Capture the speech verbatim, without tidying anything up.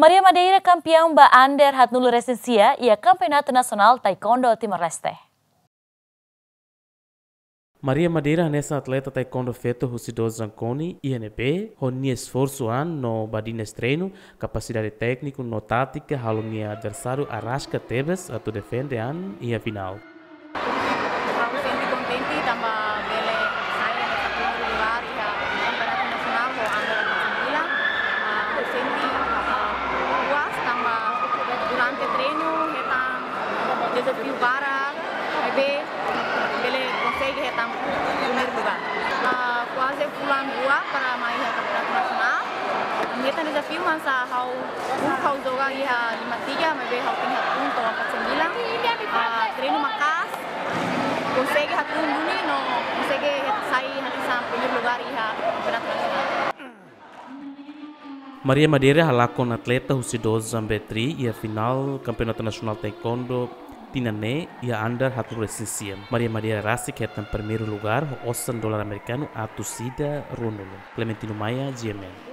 Maria Madeira kampeaun ba under haatnulu resin sia iha Kampeonatu Nasionál Taekwondo Timor-Leste. Maria Madeira hanesan atleta taekwondo feto husi Dozan Koni iha ne'ebé, ho nia esforsu an no badines treinu, kapasidade tékniku no tátika halo nia adversáriu araska tebes atu defende an iha finál. Ha'u sente kontente tanba bele sai hanesan primeiru lugár iha Kampeonatu Nasionál ho under haatnulu. Ah, ha'u sente, ah, puas tanba durante treinu hetan dezafiu barak, maibé bele konsege hetan primeiru lugár. Ah, kuaze fulan rua para mai iha Kampeonatu Nasionál. Ami hetan dezafiu, mas ha'u, ha'u joga iha lima tiga, maibé ha'u tenke haatun to'o haatnulu. Ah, treinu maka'as, konsege haatun duni no konsege sai hanesan primeiru lugár iha Kampeonatu Nasionál. Maria Madeira halakon atleta husi Dozan B three iha finál Kampeonatu Nasionál Taekwondo tinan ne'e iha under haatnulu resin sia. Maria Madeira rasik hetan primeiru lugár ho osan dolar amerikanu atus ida ruanulu. Clementino Maia, G M N.